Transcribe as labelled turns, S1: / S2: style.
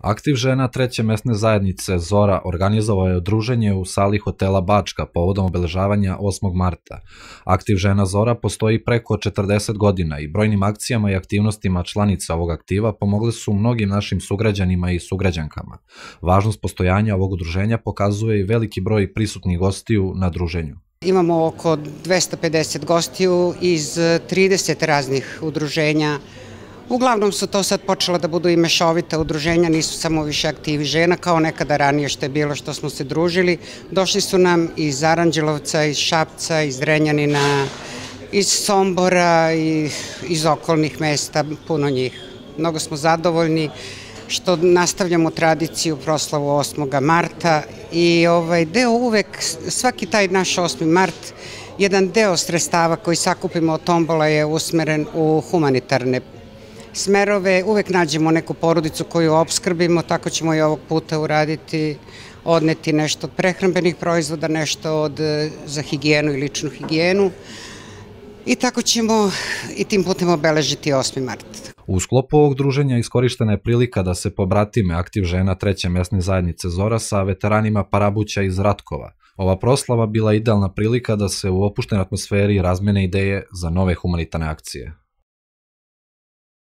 S1: Aktiv žena treće mesne zajednice Zora organizovao je druženje u sali hotela Bačka povodom obeležavanja 8. marta. Aktiv žena Zora postoji preko 40 godina i brojnim akcijama i aktivnostima članica ovog aktiva pomogli su mnogim našim sugrađanima i sugrađankama. Važnost postojanja ovog udruženja pokazuje i veliki broj prisutnih gostiju na druženju.
S2: Imamo oko 250 gostiju iz 30 raznih udruženja. Uglavnom su to sad počela da budu i mešovita udruženja, nisu samo više aktivi žena kao nekada ranije što je bilo što smo se družili. Došli su nam iz Aranđelovca, iz Šapca, iz Zrenjanina, iz Sombora i iz okolnih mesta, puno njih. Mnogo smo zadovoljni što nastavljamo tradiciju proslavu 8. marta i deo uvek, svaki taj naš 8. mart, jedan deo sredstava koji sakupimo od tombola je usmeren u humanitarne smerove, uvek nađemo neku porodicu koju opskrbimo, tako ćemo i ovog puta uraditi, odneti nešto od prehrambenih proizvoda, nešto za higijenu i ličnu higijenu i tako ćemo i tim putem obeležiti 8. mart.
S1: U sklopu ovog druženja iskorištena je prilika da se pobratime aktiv žena treće mesne zajednice Zora sa veteranima Parabuća iz Ratkova. Ova proslava bila idealna prilika da se u opuštenoj atmosferi razmene ideje za nove humanitarne akcije.